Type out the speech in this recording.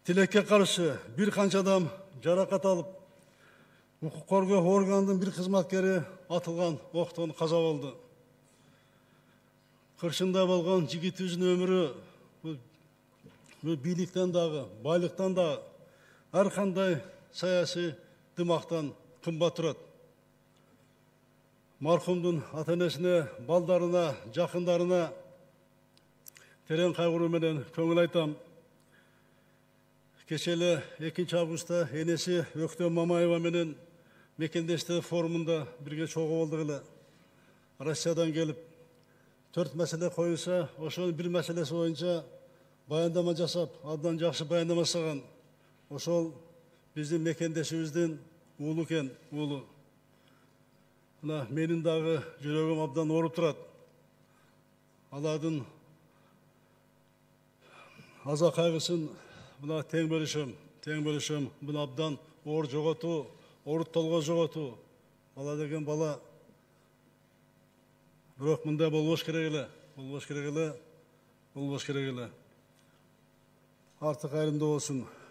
Тилекке каршы бир канча адам жаракат алып, укук коргоо органынын бир кызматкери атылган октон каза болду. Кыршында болгон жигитибиздин өмүрү бийликтен дагы, байлыктан дагы, ар кандай саясий дымактан кымбат турат. Мархумдун ата-энесине, балдарына, жакындарына терең кайгыруу менен көңүл айтам. Кече эле 2 августта энеси Өктөм Мамаева менен мекендештер форумунда бирге чогуу болдук эле. Россиядан келип 4 маселе коюлса, ошонун бир маселеси боюнча баяндама жасап, абдан жакшы баяндама жасаган. Ошол биздин мекендешибиздин уулу экен, уулу. Мына менин дагы жүрөгүм абдан ооруп турат. Алардын аза кайгысын мына тең бөлүшөм. Мына абдан оор жоготуу, ооруттолго жоготуу. Бала деген бала. Бирок мындай болбош керек эле. Артык айрымдуу болсун.